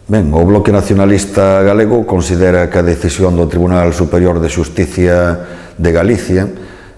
Ben, o Bloque Nacionalista Galego considera que a decisión do Tribunal Superior de Xusticia de Galicia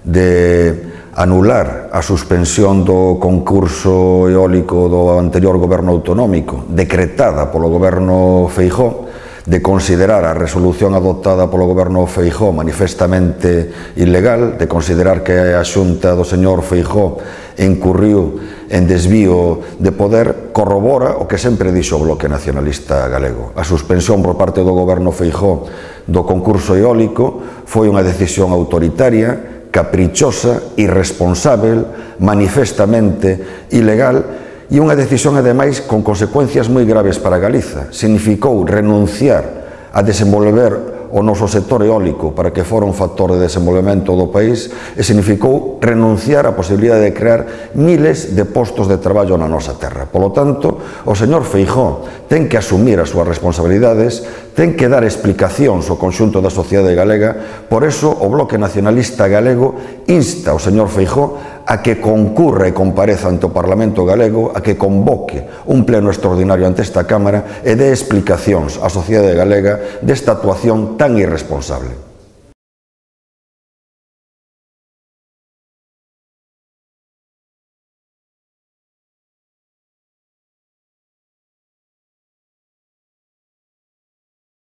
de anular a suspensión do concurso eólico do anterior goberno autonómico decretada polo goberno Feijóo, de considerar a resolución adoptada polo goberno Feijóo manifestamente ilegal, de considerar que a Xunta do señor Feijóo incurriu en desvío de poder, corrobora o que sempre dixo o Bloque Nacionalista Galego. A suspensión por parte do goberno Feijóo do concurso eólico foi unha decisión autoritaria, caprichosa, irresponsável, manifestamente ilegal, e unha decisión, ademais, con consecuencias moi graves para Galiza. Significou renunciar a desenvolver o noso sector eólico para que fora un factor de desenvolvemento do país e significou renunciar á posibilidade de crear miles de postos de traballo na nosa terra. Polo tanto, o señor Feijóo ten que asumir as súas responsabilidades, ten que dar explicacións ao conxunto da sociedade galega. Por eso, o Bloque Nacionalista Galego insta ao señor Feijóo a que concurra e compareza ante o Parlamento galego, a que convoque un pleno extraordinario ante esta Cámara e dé explicacións á sociedade galega desta actuación tan irresponsable.